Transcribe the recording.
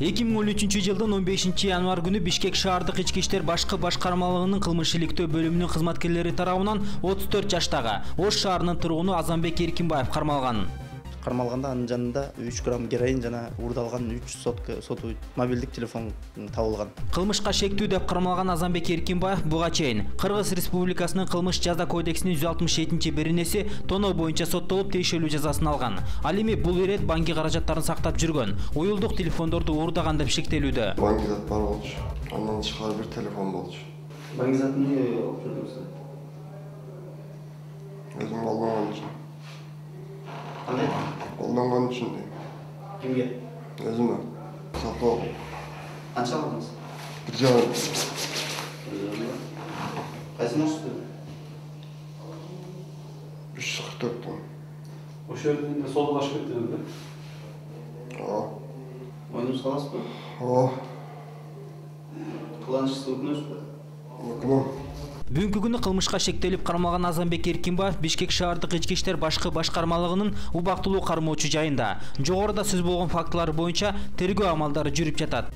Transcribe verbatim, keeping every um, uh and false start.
эки миң он үчүнчү жылдын он бешинчи январь күнү Бишкек шаардык ички иштер башкы башкармалыгынын кылмыш иликтөө бөлүмүнүн кызматкерлери тарабынан отуз төрт жаштагы Ош шаарынын тургуну Азамбек Эркинбаев кармалган. Кармалганда анын жанында үч грамм героин жана уурдалган үч сотовый мобилдик телефон табылган. Кылмышка шектүү деп кармалган Азамбек Эркинбаев буга чейин Кыргыз Республикасынын кылмыш жаза кодексинин жүз алтымыш жетинчи беренеси тоноо боюнча соттолуп тиешелүү жазасын алган. Ал эми бул ирет банки каражаттарын сактап жүргөн, уюлдук телефондорду уурдаган деп шектелүүдө. Банки зат бар болчу. Андан тышкары бир телефон болчу. Банки затын эмне алып жүрдүңүз? Өзүм алган үчүн. Кандай? Колдонгон үчүн. Кимге? Өзүмө. Сатып. Канча алдыңыз? Бир жарым. Кайсы маршрутта? үч кырк төрт. Ошол жерде солдаш кеттиңиз да? Ооба. Мойнуңуз каласызбы? Ооба. Кыланычсыз өкүнөсүзбү? Өкүнөм. Бүгүнкү күнү кылмышка шектелип кармалган Азамбек Эркинбаев Бишкек шаардык ички иштер башкы башкармалыгынын убактылуу кармоочу жайында. Жогоруда сөз болгон фактылар боюнча тергөө амалдары жүрүп жатат.